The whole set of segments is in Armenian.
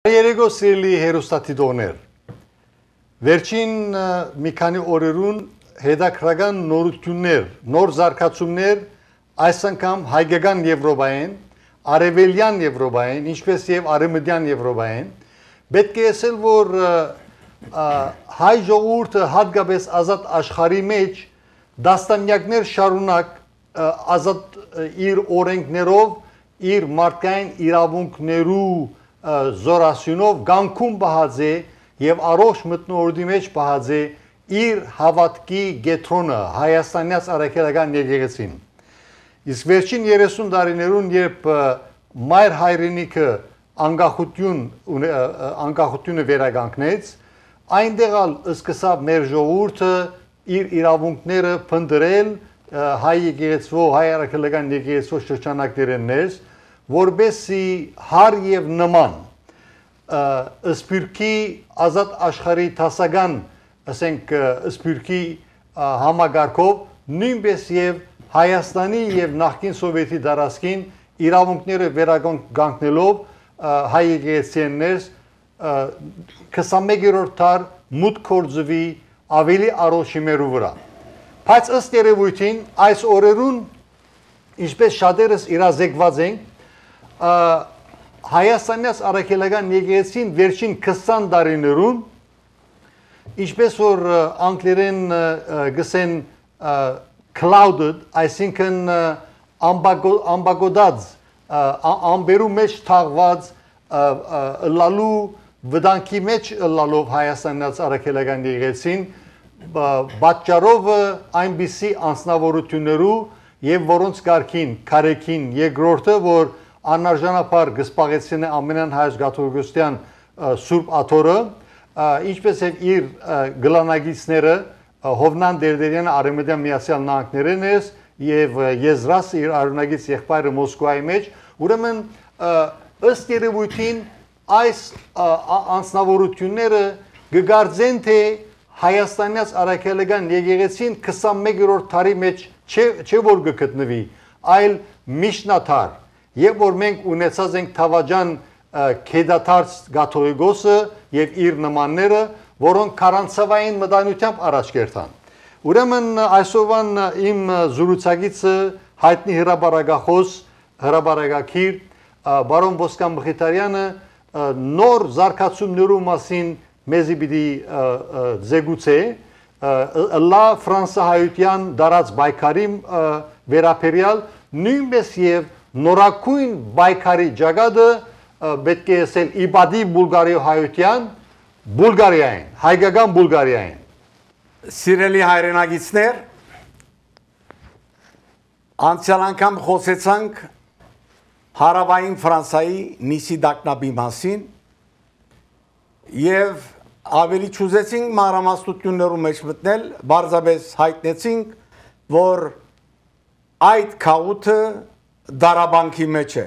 Երեգո սիրելի հերոստատիդոներ, վերջին մի քանի օրերուն հետաքրական նորություններ, նոր զարգացումներ այս անգամ հայկական Եվրոպայեն, արևելյան Եվրոպայեն, ինչպես եւ արևմտյան Եվրոպայեն, պետք է ասել, որ հայ ժողովուրդը հատկապես ազատ աշխարհի մեջ դաստամյակներ շարունակ ազատ իր օրենքներով, իր մարդկային իրավունքներու զորասյունով գանքում բահած է եւ առողջ մտնորդի մեջ բահած է իր հավատքի գետրոնը Հայաստանյաց արաքելական եկեղեցին։ Իսկ վերջին 30 տարիներուն երբ մայր հայրենիքը անկախությունը վերականգնեց, այնտեղ սկսավ մեր ժողովուրդը իր իրավունքները փնտրել հայ եկեղեցու, հայ արաքելական եկեղեցու շրջանակներն ներս, որբեսի հար եւ նման սպիրկի ազատ աշխարհի տասական, ասենք սպիրկի համագարկով նույնպես եւ Հայաստանի եւ նախկին Սովետի դարաշքին իրավունքները վերականգնելով հայ եկեղեցին ներս 21-րդ դար մուտք կորձվի ավելի առողջիմերու վրա։ Բայց ըստ երևույթին այս օրերուն ինչպես շատերս իրազեկված ենք Հայաստանյաց արաքելական եկեղեցին վերջին 20 տարիներուն ինչպես որ անգլերեն գսեն clouded, այսինքն ամբագոդած, ամբերու մեջ թաղված լալու վտանգի մեջ լալով Հայաստանյաց արաքելական եկեղեցին պատճառով այնպիսի անձնավորություններու եւ որոնց կարգին քարեքին երկրորդը որ անարժանապար գսպաղեցին է ամենան հայոց կաթողիկոսության Սուրբ Աթորը ինչպես եւ իր գլանագիցները Հովնան Դերդերյանը Արեմեդյան Միացյալ Նահանգներն ես եւ Եզրաս իր արունագից եղբայրը Մոսկվայի մեջ ուրեմն ըստ երևույթին այս անձնավորությունները գգարձեն թե Հայաստանյաց արաքելական եկեղեցին 21-րդ դարի մեջ չէ որ գտնվի, այլ միջնադար, եւ որ մենք ունեցած ենք Թավաջան Քեդաթարց Կաթողիկոսը եւ իր նմանները, որոնք քարանցավային մտայնությամբ առաջ կերտան։ Ուրեմն այսօրվան իմ զրուցակիցը հայտնի հրապարակախոս, հրապարակակիր բարոն Ոսկան Մխիթարյանը նոր զարգացումներու մասին մեզի պիտի զեկուցե լա ֆրանսահայության դարած բայկարի վերապերյալ նույնպես եւ նորակույն բայկարի ջագադը պետք է ասել իբադի բուլգարիոհայության Բուլգարիային, հայկական Բուլգարիային։ Սիրելի հայրենագիցներ, անցյալ անգամ խոսեցանք հարավային Ֆրանսայի Նիսի դակնաբի մասին եւ ավելի չուզեցինք մանրամասնություններու մեջ մտնել, բարձրապես հայտնեցինք, որ այդ քաութը դարաբանքի մեջ է։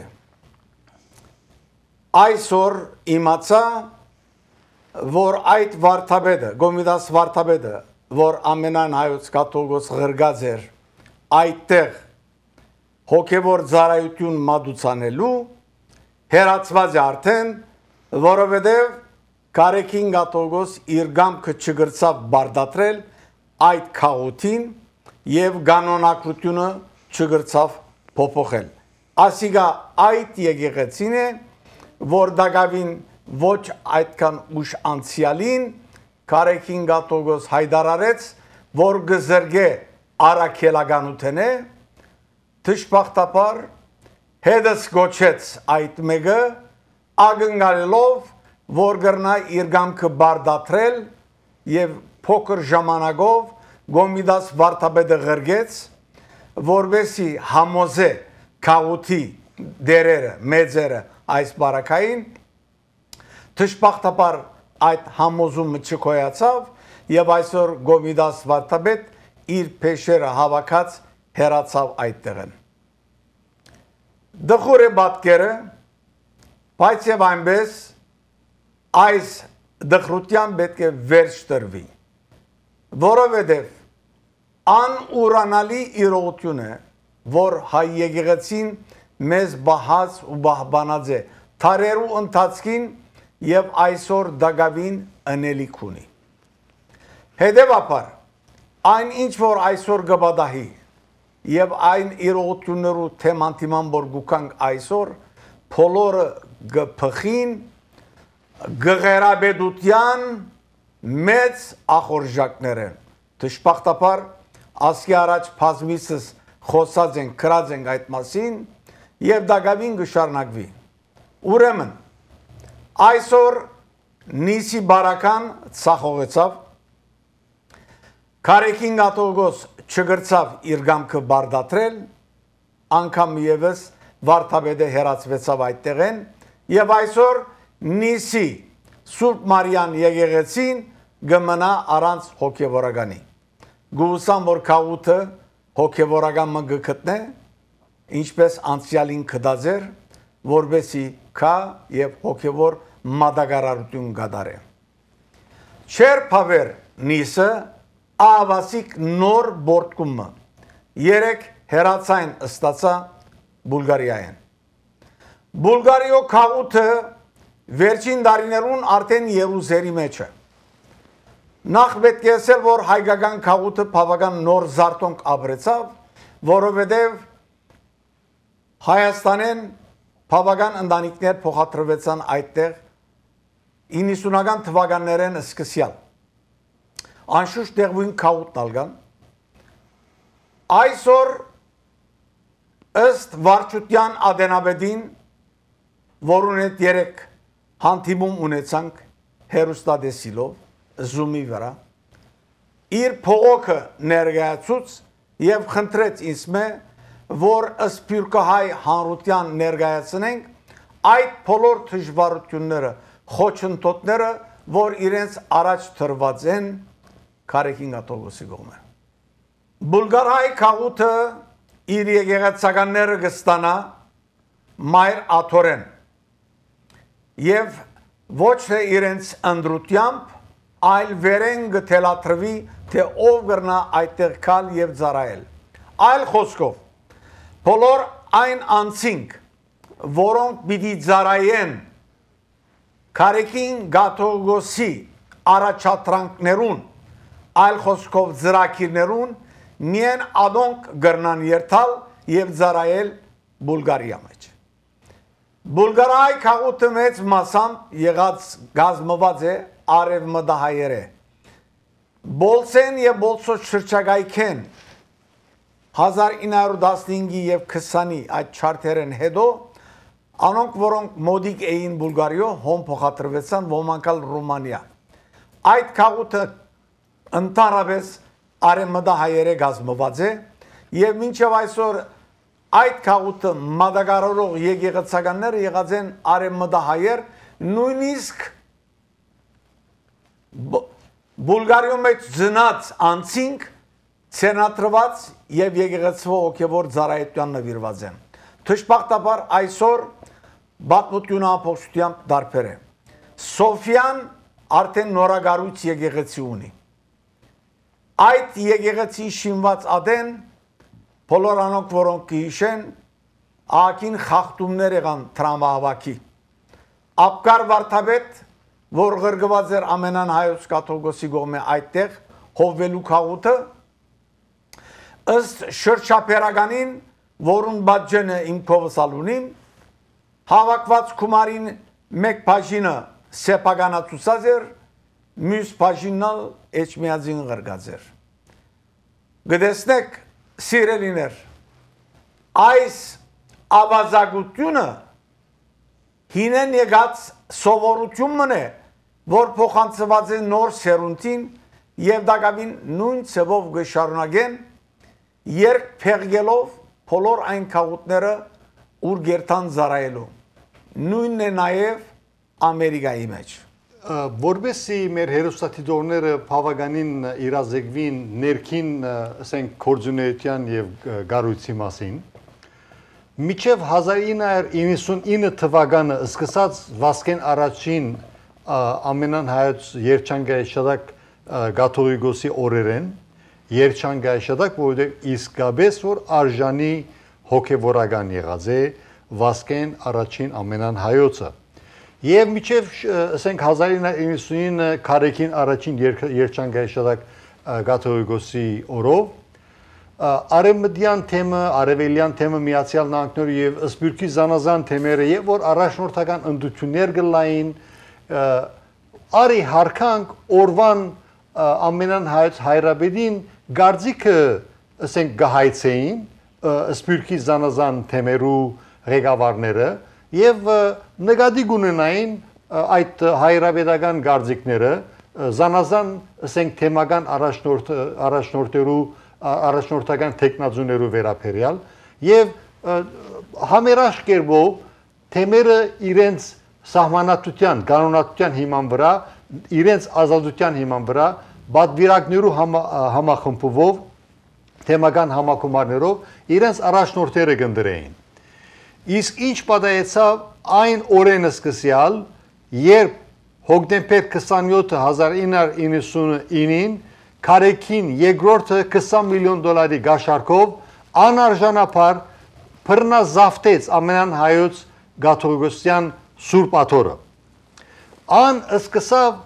Այսօր իմացա, որ այդ վարդապետը, Գոմիդաս վարդապետը, որ ամենայն հայոց կաթողիկոս ղրգած էր այդտեղ հոգևոր ծառայություն մատուցանելու հերացված է արդեն, որովհետև Կարեկին կաթողիկոս իր գամքը չգրծավ բարդատրել այդ քաութին եւ կանոնակրությունը չգրծավ փոփոխել։ Ասիկա այդ եկեղեցին է, որ դակավին ոչ այդքան ուշ անցյալին Կարեկին կաթողիկոս հայտարարեց, որ գզրգե արաքելականութենե թշպախտապար հետս գոչեց այդ մեկը ագնգալելով որ գրնա իր գամքը բարդատրել եւ փոքր ժամանակով Գոմիդաս վարդապետը ղրգեց որբեսի համոզե քաութի դերերը մեծերը այս բարակային թշպախտապար այդ համոզումը չկոյացավ եւ այսօր Գոմիդաս վարդապետ իր փեշերը հավաքած հերացավ այդտեղն դխուր է բատկերը բայց եւ այնպես այս դխրության պետք է վերջ տրվի որովհետեւ անուրանալի իրողություն է որ հայ եկեղեցին մեզ բահած ու բահբանած է թարերու ընթացքին եւ այսօր դակավին անելիք ունի։ Հետևաբար այն ինչ որ այսօր գբադահի եւ այն իրողություններու թեմանտիման որ գուկանք այսօր բոլորը գփխին գղերաբեդության մեծ ախորժակներ են։ Դժբախտաբար ասկի առաջ բազմիցս խոսած են, քրած են այդ մասին եւ դակավին գշարնակվի։ Ուրեմն այսօր նիսի բարական ցախողեցավ Կարեկին գատոգոս չգրծավ իր գամքը բարդատրել, անգամ եւս վարդապետը հերացվեցավ այդտեղեն եւ այսօր նիսի Սուրբ Մարիան եկեղեցին գմնա առանց հոգեվորականի։ Գուսան որ քաղուտը հոգեվորական մը գտնե, ինչպես անցյալին կդազեր, որբեսի կա եւ հոգեվոր մատակարարություն գդարե։ Չեր փավեր նիսը ավասիկ նոր բորտկումը երեք հերացային ստացա Բուլգարիայեն։ Բուլգարիո քաղուտը վերջին դարիներուն արդեն Երուսաղեմի մեջ է։ Նախ պետք է ասել, որ հայկական քաղուտը բավական նոր զարթոնք ապրեցավ, որովհետև Հայաստանեն բավական ընտանիքներ փոխադրվեցան այդտեղ 90-ական թվականներեն սկսյալ։ Անշուշտ տեղույն քաղուտ ալգան։ Այսօր ըստ վարչության ադենաբեդին, որուն հետ երեք հանդիպում ունեցանք հերոստատեսիլով, Zoom-ի վրա, իր փողոքը ներկայացուց եւ խնդրեց ինձ մե, որ սփյուռքահայ հանրության ներկայացնենք այդ բոլոր դժվարությունները, խոչընդոտները, որ իրենց առաջ թրված են Կարեկին գատողոսի կողմը։ Բուլգարհայ քաղուտը իր եկեղեցականները կստանա մայր աթորեն եւ ոչ թե իրենց ընդրությամբ, այլ վերեն գթելատրվի, թե ով գրնա այդտեղ կալ եւ ծառայել։ Այլ խոսքով, բոլոր այն անցինք, որոնք պիտի ծառայեն Կարեկին գատողոսի առաջադրանքներուն, այլ խոսքով ծրագիրներուն, միայն ադոնք գրնան երթալ եւ ծառայել Բուլգարիա մեջ։ Բուլգարիայի քաղուտը մեծ մասամբ եղած գազմված է արևմտահայերը։ Բոլսեն եւ Բոլսոց շրջակայքեն 1915-ի եւ 20-ի այդ չարթերեն հետո անոնք որոնք մոդիկ էին Բուլգարիո հոմ փոխադրվեցան ոմանկալ Ռումանիա։ Այդ քաղուտը ընդհանրապես արևմտահայերը գազմված է եւ մինչեւ այսօր այդ քաղուտը մատակարարող եկեղեցականները եղած են արևմտահայեր, նույնիսկ Բուլգարիո մեջ ծնած անցինք ցենատրված եւ եկեղեցվո հոգեվոր ծառայության նվիրված են։ Դժբախտաբար այսօր բացմությունը ամբողջությամբ դարբեր է։ Սոֆիան արդեն նորագարույց եկեղեցի ունի։ Այդ եկեղեցի շինված ադեն բոլոր անոնք որոնք կհիշեն ակին խախտումներ եղան տրամահավաքի։ Աբկար վարդապետ, որ գրգված էր ամենան հայոց կաթողիկոսի կողմէ այդտեղ հովվելու քաղուտը, ըստ շրջափերականին, որուն բաժինը իմ կովս ալունիմ, հավաքված կումարին մեկ բաժինը սեփականացուցած էր, մյուս բաժինն էջմիածին գրգած էր։ Գտեսնեք, սիրելիներ, այս ավազակությունը հինեն եկած սովորությունն է, որ փոխանցված է նոր սերունդին եւ դակավին նույն ցևով գշարունակեն, երբ փեղելով բոլոր այն քաղուտները ուր գերտան զարայելու։ Նույնն է նաեւ Ամերիկայի մեջ։ Որբեսի մեր հերոստատիտորները բավականին իրազեկվին ներքին ասենք կորձունեության եւ գառույցի մասին, միջև 1999 թվականը սկսած Վասկեն առաջին ամենան հայոց երջանկայաշտակ կաթողիկոսի օրերեն երջանկայաշտակ, որովհետև իսկապես որ արժանի հոգևորական եղած է Վասկեն առաջին ամենան հայոցը։ Եվ միջև ասենք 1999 Քարեքին առաջին երջանկայաշարակ կաթողիկոսի օրով արևմտյան թեմը, արևելյան թեմը Միացյալ Նահանգները եւ Սփյուռքի զանազան թեմերը եւ որ առաջնորդական ընդդություններ գլային արի հարկանք օրվան ամենան հայրաբեդին գարձիկը ասենք գահայցեին Սփյուռքի զանազան թեմերու ղեկավարները եւ նկատի ունենային այդ հայրաբեդական գարձիկները զանազան ասենք թեմական առաջնորդական տեխնազուներու վերաբերյալ եւ համերաշ կերպով թեմերը իրենց սահմանատության, կանոնատության հիման վրա, իրենց ազատության հիման վրա բادվիրակներու համախմբվով թեմական համակոմարներով իրենց առաջնորդները կնդրեին։ Իսկ ինչ պատահեցավ այն օրեն սկսյալ, երբ հոկտեմբեր 27 1999-ին Քարեքին երկրորդը 20 միլիոն դոլարի գաշարքով անարժանապար բռնազավթեց ամենան հայոց գաթողիկոսյան Սուրբ Աթոռը։ Ան սկսավ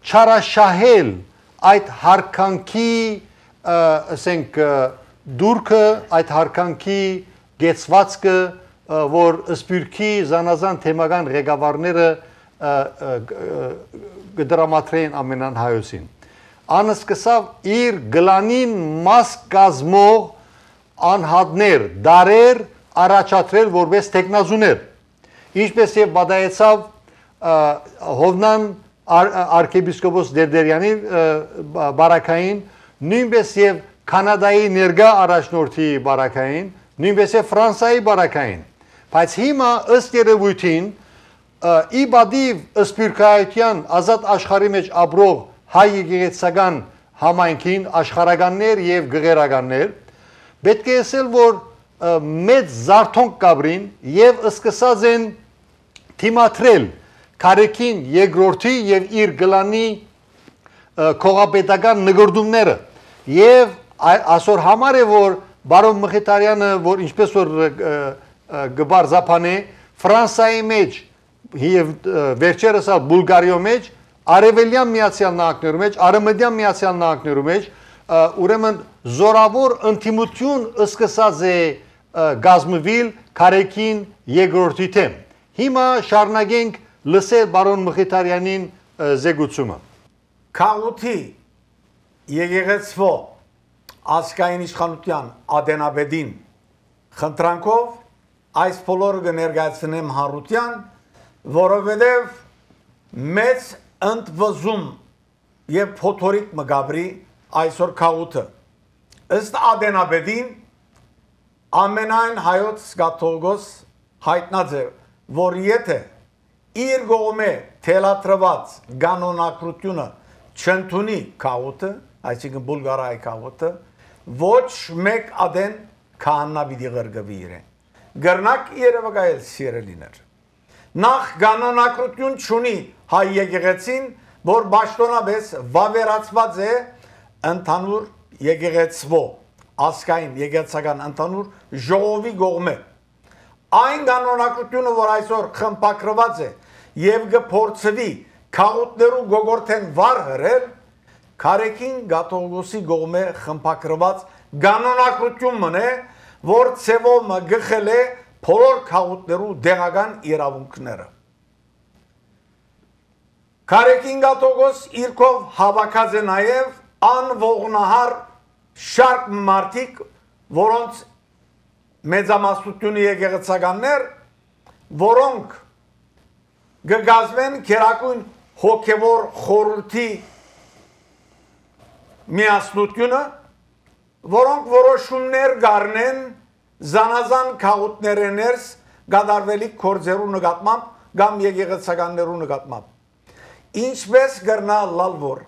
չարաշահել այդ հարկանքի ասենք դուրքը, այդ հարկանքի գեցվածքը, որ Սփյուռքի զանազան թեմական ղեկավարները կդրամատրեին ամենան հայոցին։ Ան սկսավ իր գլանին մաս կազմող անհատներ, դարեր առաջադրել որպես տեխնազուներ։ Ինչպես եւ պատահեցավ Հովնան arczepiskopos Դերդերյանի բարակային, նույնպես եւ Կանադայի ներգա առաջնորդի բարակային, նույնպես եւ Ֆրանսիայի բարակային։ Բայց հիմա ըստ երևույթին ի բադիվ սփյուռքայության ազատ աշխարհի մեջ ապրող հայ եկեղեցական համայնքին աշխարհականներ եւ գղերականներ պետք է ասել որ մեծ զարթոնք կաբրին եւ սկսած են թիմատրել Քարեքին երկրորդի եւ իր գլանի քողապետական նգրդումները եւ այսօր համար է որ բարոն Մխիթարյանը որ ինչպես որ գբարձապանե Ֆրանսիայի մեջ եւ վերջերս Բուլղարիո մեջ Արևելյան Միացյալ Նահանգներու մեջ, Արևմտյան Միացյալ Նահանգներու մեջ ուրեմն զորավոր ընդդիմություն սկսած է գազմվել Քարեքին երկրորդի թեմ։ Հիմա շարունակենք լսել բարոն Մխիթարյանին զեկուցումը։ Քաղութի եկեղեցվո ազգային իշխանության ադենաբեդին խնդրանքով այս բոլորը կներկայացնեմ հարության, որովհետև մեծ ընդվզում եւ փոթորիկ մգաբրի այսօր քաղութը ըստ ադենաբեդին ամենայն հայոց գաթողիկոս հայտնած է որ եթե իր գողմե թելատրված կանոնակրությունը չընդունի քաղութը այսինքն բուլղարիայի քաղութը ոչ մեկ ադեն քահանա պիտի ղրգվի իրեն գրնակ երևակայել սիրելիներ նախ կանոնակրություն չունի հայ եկեղեցին որ ճշտոնապես վավերացված է ընդհանուր եկեղեցվո ազգային եկեղեցական ընդհանուր ժողովի կողմէ այն կանոնակրությունը որ այսօր խմբագրված է եւ կփորձվի քաղութներու գողորթեն վար հրել Քարեքին գաթողիկոսի կողմէ խմբագրված կանոնակրություն մնե որ ցևոմը գխել է բոլոր քաղութներու դեղական իրավունքները Քարեքին գաթողիկոս իրքով հավաքած է նաեւ անողնահար շարք մարդիկ որոնց մեծամասնությունը եկեղեցականներ որոնք գգազմեն քերակույն հոգևոր խորհրդի միասնությունը որոնք որոշումներ գարնեն զանազան քաղութներեն ներս գադարվելիք կորձերու նկատմամբ կամ եկեղեցականներու նկատմամբ ինչպես գրնալ լալվոր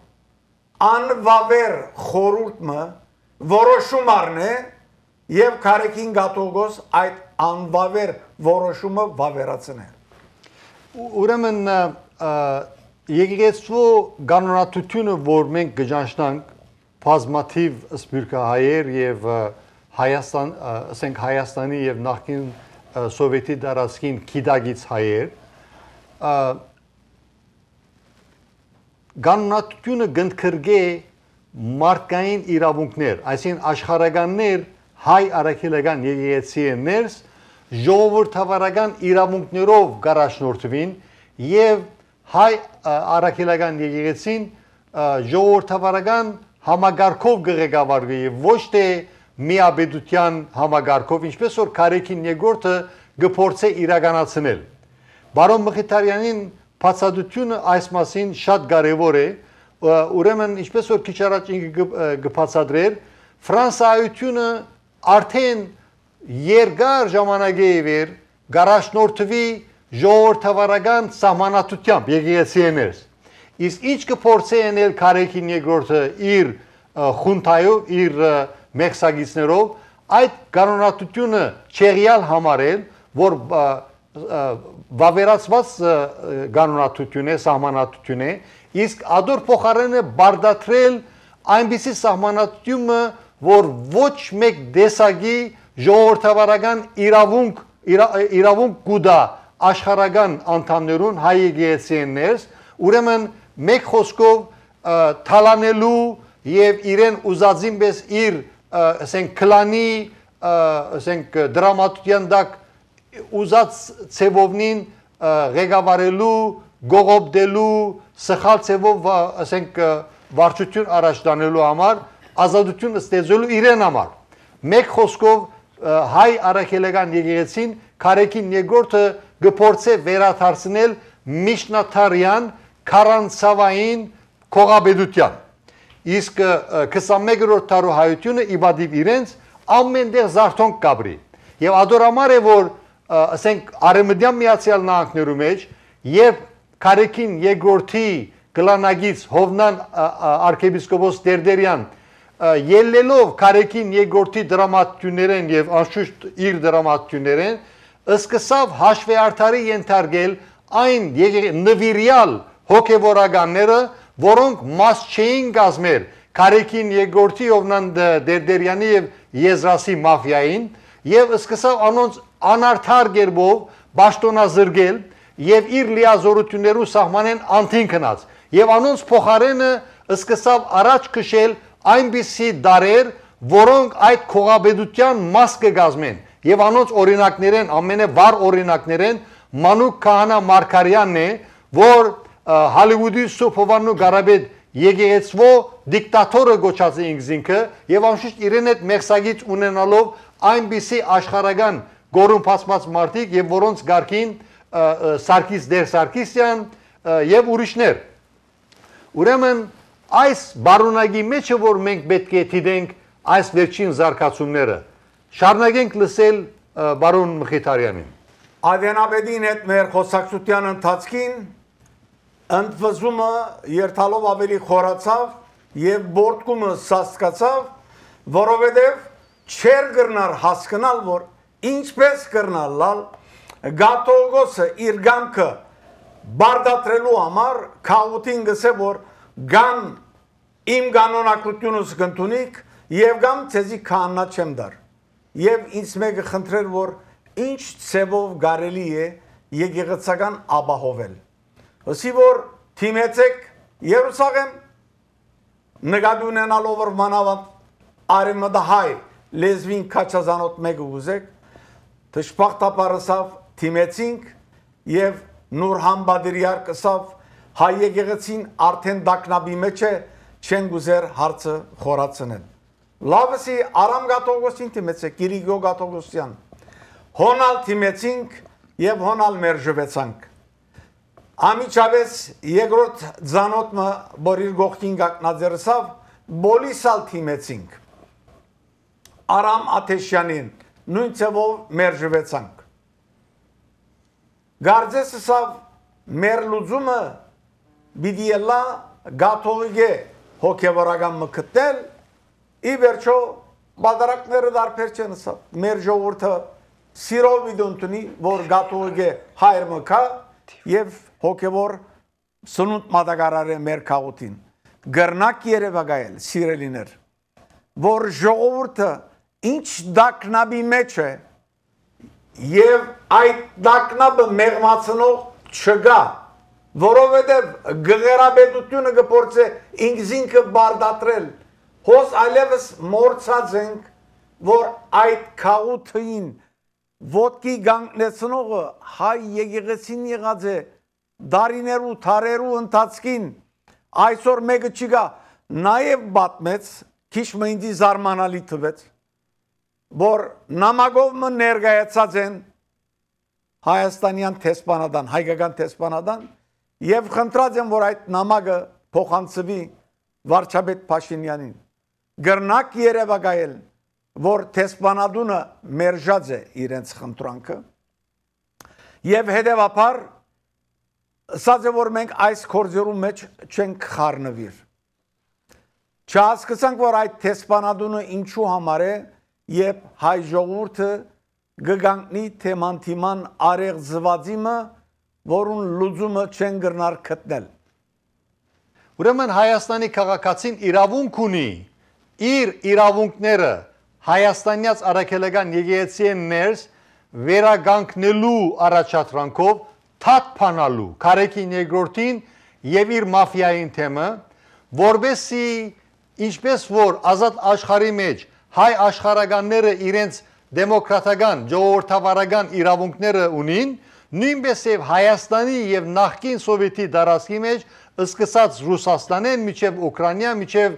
անվավեր խորհուրդը որոշում առնե եւ Քարեքին գաթողիկոս այդ անվավեր որոշումը վավերացնե ուրեմն եկեղեցու կանոնատությունը որ մենք կճանչնանք բազմաթիվ սփյուռքահայեր եւ Հայաստան ասենք Հայաստանի եւ նախկին սովետի տարածքին քիդագից հայեր կանոնատությունը գնդքրգե մարդկային իրավունքներ, այսինքն աշխարհականներ հայ արաքելական եկեղեցիներս ժողովրդավարական իրավունքներով գարաշնորթվին եւ հայ արաքելական եկեղեցին ժողովրդավարական համագարկով գղեկավարվի եւ ոչ թե միաբեդության համագարկով, ինչպես որ Քարեքին երկրորդը գործե իրականացնել։ Բարոն Մխիթարյանին բացատրությունը այս մասին շատ կարևոր է, ուրեմն ինչպես որ քիչ առաջ ինքը կբացատրեր, Ֆրանսիայությունը արդեն երկար ժամանակի վեր գարաշնորթվի ժողովրդավարական սահմանատությամբ եկեղեցիներս։ Իսկ ինչ կփորձի անել Քարեքին երկրորդը իր խունթայով, իր մեղսագիծներով, այդ կանոնատությունը չեղյալ համարել, որ վավերացված կանոնատություն է, սահմանատություն է, իսկ ադոր փոխարենը բարդացրել այնպիսի սահմանատությունը, որ ոչ մեկ դեսագի ժողովրդավարական իրավունք կուտա աշխարհական անդամներուն հայ եկեղեցիներս, ուրեմն մեկ խոսքով թալանելու եւ իրեն ուզածին պես իր ասենք քլանի ասենք դրամատուրգիան դակ ուզած ցևովնին ղեկավարելու, գողոպտելու, սխալ ցևով ասենք վարչություն առաջ տանելու համար, ազատություն ստեղծելու իրեն համար։ Մեկ խոսքով հայ արաքելական եկեղեցին Քարեքին երկրորդը գործե վերադարձնել միջնադարյան քարանցավային քողաբեդության։ Իսկ 21-րդ դարու հայությունը իբադիվ իրենց ամենտեղ զարթոնք կաբրի։ Եվ ադորամար է, որ ասենք Արեմդյան Միացյալ Նահանգներու մեջ եւ Քարեքին երկրորդի գլանագից Հովնան arczepiskopos Տերտերյան ելնելով Քարեքին երկրորդի դրամատություններեն եւ անշուշտ իր դրամատություններեն սկսավ հաշվեարդարի ենթարկել այն նվիրյալ հոգևորականները, որոնք մաս չէին կազմել Քարեքին երկրորդի Հովնան Տերտերյանի եւ Եզրասի մաֆիային եւ սկսավ անոնց անարդար գերբով բաշտոնազրկել եւ իր լիազորություններու սահմանեն անթին քնած եւ անոնց փոխարենը սկսավ առաջ քշել այնպիսի դարեր, որոնք այդ քողաբեդության մաս կգազմեն եւ անոնց օրինակներեն ամենավառ օրինակներեն Մանուկ Քահանա Մարգարյանն է, որ Հոլիվուդի Սուփովանու Գարաբեդ եկեղեցվո դիկտատորը գոչած է ինքզինքը եւ անշուշտ իրեն այդ մեղսագից ունենալով այնպիսի աշխարհական գորունփացված մարդիկ եւ որոնց գարկին Սարգիս Դեր Սարգսյան եւ ուրիշներ։ Ուրեմն այս բարունագի մեջը որ մենք պետք է դիտենք այս վերջին զարգացումները, շարունակենք լսել բարոն Մխիթարյանին։ Ադենաբեդին հետ մեր խոսակցության ընթացքին ընդվզումը երթալով ավելի խորացավ եւ բորտկումը սաստկացավ, որովհետեւ չեր գրնար հասկանալ, որ ինչպես կրնալ Գաթողոսը իր գամքը բարդատրելու համար քաուտին գսե որ գամ իմ կանոնակությունս կընդունիք եւ գամ ցեզի քահանա չեմ դար եւ ինձ մեկը խնդրեր որ ինչ ցևով կարելի է եկեղեցական ապահովել ասի որ թիմեցեք Երուսաղեմ նկատի ունենալով որ մանավանդ արեմդահայ լեզվին քաչազանոտ մեկը ուզեք դժբախտաբարսավ թիմեցինք եւ նուր համբադիրյար կսավ հայ եկեղեցին արդեն դակնաբի մեջ է չեն գուզեր հարցը խորացնել լավսի Արամ Գաթողոսին թիմեցեք Կիրիգո Գաթողոսյան հոնալ թիմեցինք եւ հոնալ մերժվեցանք ամիջավես երկրորդ ձանոթը որ իր գողքին գակնաձերսավ բոլիսալ թիմեցինք Արամ Աթեշյանին նույն ցևով մերժվեցանք Գարձեսսավ մեր լուծումը բիդիելա գաթողիկե հոգևորական մկտել ի վերջո բادرակները դարբեր չեն ասա մեր ժողովուրդը սիրով իդունտնի որ գաթողիկե հայր մկա եւ հոգևոր սնունդ մատակարարը մեր քաղուտին գրնակ երևակայել սիրելիներ որ ժողովուրդը ինչ դակնաբի մեջ է եւ այդ դակնաբը մեղմացնող չգա որովհետև գղերաբեդությունը գործե ինքզինքը բարդատրել, հոս այլևս մորցած ենք, որ այդ քաղութին ոտքի գանգնեցնողը հայ եկեղեցին եղած է դարիներու, թարերու ընթացքին, այսօր մեկը չգա, նաև բատմեց, քիչ մինչի զարմանալի թվեց, որ նամակով մը ներկայացած են հայաստանյան տեսփանադան, հայկական տեսփանադան եւ խնդրած են, որ այդ նամակը փոխանցվի վարչապետ Փաշինյանին։ Գրնակ երևակայել, որ տեսփանադունը մերժած է իրենց խնդրանքը եւ հետեւաբար ասած է, որ մենք այս կորձերու մեջ չենք խառնվիր։ Չհասկացանք, որ այդ տեսփանադունը ինչու համար է եւ հայ ժողովուրդը գգանքնի թեմանթիման արեղ զվացիմը, որուն լուծումը չեն գրնար գտնել։ Ուրեմն Հայաստանի քաղաքացին իրավունք ունի իր իրավունքները հայաստանյաց առաքելական եկեղեցիեն ներս վերագանքնելու առաջադրանքով թաթփանալու Քարեքին երկրորդին եւ իր մաֆիային թեմը, որբեսի ինչպես որ ազատ աշխարհի մեջ հայ աշխարհականները իրենց դեմոկրատական, ժողովրդավարական իրավունքները ունին, նույնպես եւ Հայաստանի եւ նախկին սովետի դարաշքի մեջ սկսած Ռուսաստանեն, միջև Ուկրաինա, միջև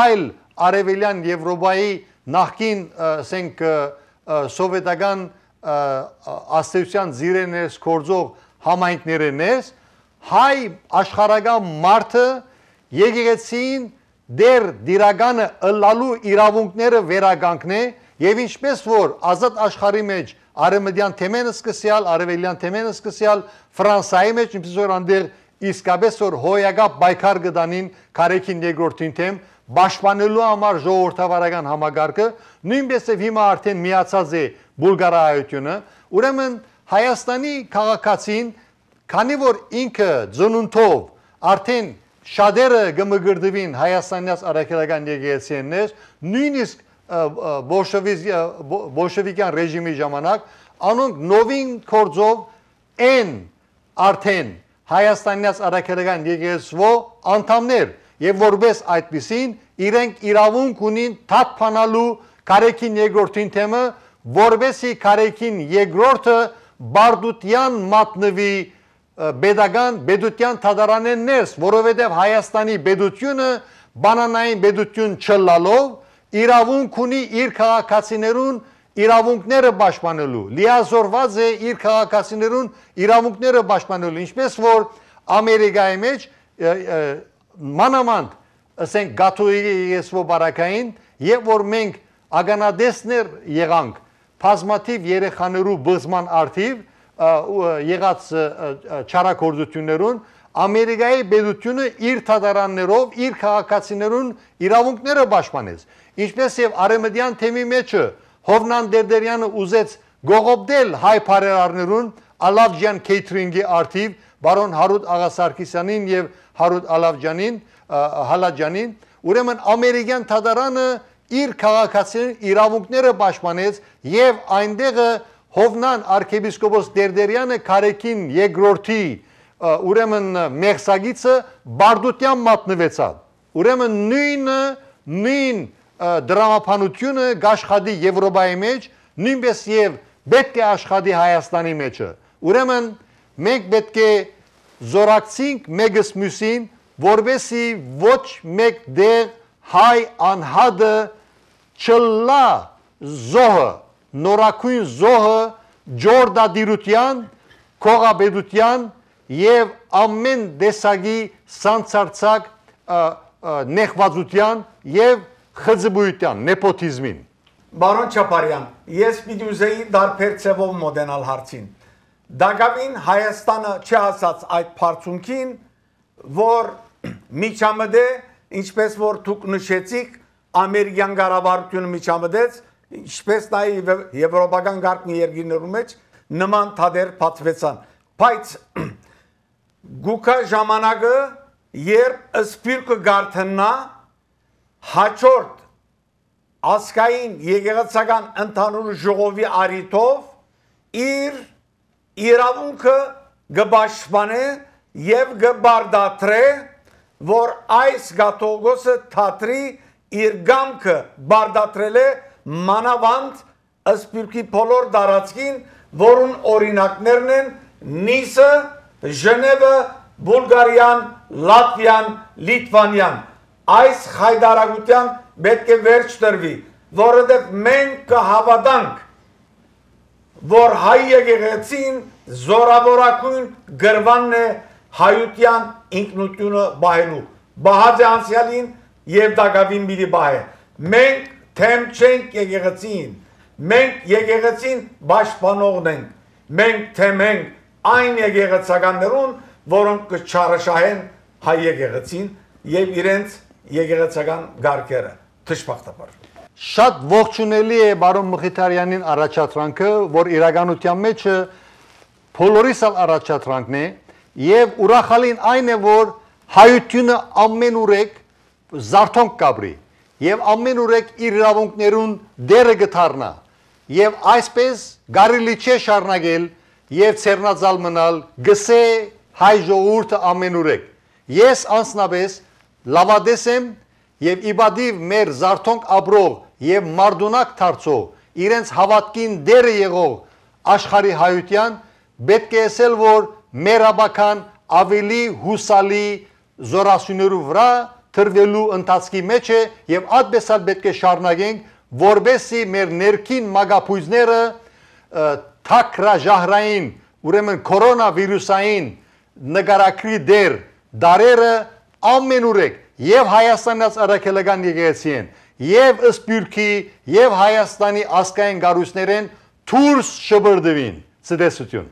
այլ արևելյան Եվրոպայի նախկին ասենք սովետական աստեցության զիրեներս կորձող համայնքներենես հայ աշխարհական մարդը եկեղեցին դեր դիրականը ըլլալու իրավունքները վերագանքնե եւ ինչպես որ ազատ աշխարհի մեջ արևմտյան թեմենը սկսյալ, արևելյան թեմենը սկսյալ, Ֆրանսիայի մեջ ինչպես որ անդեր իսկապես որ հոյակապ բայկար գտանին Քարեքին երկրորդին թեմ պաշտպանելու համար ժողովրդավարական համագարկը, նույնպես եւ հիմա արդեն միացած է Բուլղարայությունը, ուրեմն Հայաստանի քաղաքացին, քանի որ ինքը ծնունդով արդեն շատերը գմգրդվին Հայաստանյաց առաքելական եկեղեցիներ, նույնիսկ բոլշևիկյան ռեժիմի ժամանակ, անոնք նովին կորձով են արդեն Հայաստանյաց առաքելական եկեղեցվո անդամներ եւ որպես այդպիսին իրենք իրավունք ունին թաթփանալու Քարեքին երկրորդին թեմը, որբեսի Քարեքին երկրորդը բարդության մատնվի բեդության թադարանեն ներս, որովհետև Հայաստանի բեդությունը բանանային բեդություն չլալով իրավունք ունի իր քաղաքացիներուն իրավունքները պաշտպանելու, լիազորված է իր քաղաքացիներուն իրավունքները պաշտպանելու, ինչպես որ Ամերիկայի մեջ մանավանդ ասենք գաթողիկ եկեղեցու բարակային եւ որ մենք ագանադեսներ եղանք բազմաթիվ երեխաներու բզման արդիվ եղած չարակորձություններուն Ամերիկայի բեդությունը իր թադարաններով իր քաղաքացիներուն իրավունքները պաշտպանեց ինչպես եւ արեմդյան թեմի մեջը Հովնան Դերդերյանը ուզեց գողոպտել հայ բարերարներուն Ալավջյան քեյթրինգի արդիվ բարոն Հարութ Աղասարքիսյանին եւ Հարութ Հալաջանին, ուրեմն ամերիկյան թադարանը իր քաղաքացիներին իրավունքները պաշտպանեց եւ այնտեղը Հովնան arczepiskopos Դերդերյանը Քարեքին երկրորդի ուրեմն մեղսագիծը բարդության մատնվեցավ։ Ուրեմն նույն դրամապանությունը գաշխատի Եվրոպայի մեջ, նույնպես եւ պետք է աշխատի Հայաստանի մեջը։ Ուրեմն մենք պետք է զորակցենք մեկս մյուսին, որովհետեւ ոչ մեկ դեր հայ անհատը չլա զոհը, նորակույն զոհը ջորդադիրության, քողաբեդության եւ ամեն տեսակի սանցարցակ նեղվածության եւ խզբույթյան, նեպոտիզմին։ Բարոն Չապարյան, ես պիտի ուզեի դարբեր ցևով մոդենալ հարցին։ Դակավին Հայաստանը չհասած այդ բարձունքին, որ միջամտե, ինչպես որ դուք նշեցիք, ամերիկյան կառավարությունը միջամտեց, ինչպես նաև եվրոպական գաղտնի երկրներու մեջ նման թադեր բացվեցան։ Բայց գուկա ժամանակը, երբ սպիրկը գարթնա հաջորդ ասկային եկեղեցական ընդհանուր ժողովի արիտով իր իրավունքը գբաշխանե եւ գբարդատրե որ այս գաթողոսը թատրի իր գամքը բարդատրել է մանավանդ Սփյուռքի բոլոր տարածքին որուն օրինակներն են Նիսը, Ժնևը, Բուլղարիան, Լատվիան, Լիտվանիան այս խայդարագության պետք է վերջ տրվի որովհետև մենք կհավատանք որ հայ եկեղեցին զորավորակույն գրվանն է հայության ինքնությունը բահելու բահաձե անցյալին եւ դակավին պիտի բահե մենք թեմ չենք եկեղեցին մենք եկեղեցին պաշտպանողն ենք մենք թեմ ենք այն եկեղեցականներուն որոնք կչարաշահեն հայ եկեղեցին եւ իրենց եկեղեցական գարկերը թշպախտաբար Շատ ողջունելի է բարոն Մխիթարյանին առաջադրանքը, որ իրականության մեջ բոլորիս առաջադրանքն է եւ ուրախալին այն է, որ հայությունը ամեն ուրեք զարթոնք կաբրի եւ ամեն ուրեք իր իրավունքներուն դերը գթառնա եւ այսպես գարիլի չէ շարունակել եւ ցերնածալ մնալ գսե հայ ժողովուրդը ամեն ուրեք ես անձնապես լավադես եմ եւ իբադիվ մեր զարթոնք ապրող եւ մարդունակ դարձող իրենց հավատքին դերը եղող աշխարհի հայության պետք է ասել որ մեր աբական ավելի հուսալի զորասյուներու վրա թրվելու ընթացքի մեջ է եւ այդպեսալ պետք է շարունակենք որբեսի մեր ներքին մագապույզները թակրաժահրային ուրեմն կորոնավիրուսային նկարակրի դեր դարերը ամենուրեք եւ Հայաստանից առաքելական եկեղեցի են եւ Սփյուռքի եւ Հայաստանի ազգային գարուսներեն դուրս շբրդվին ցտեսություն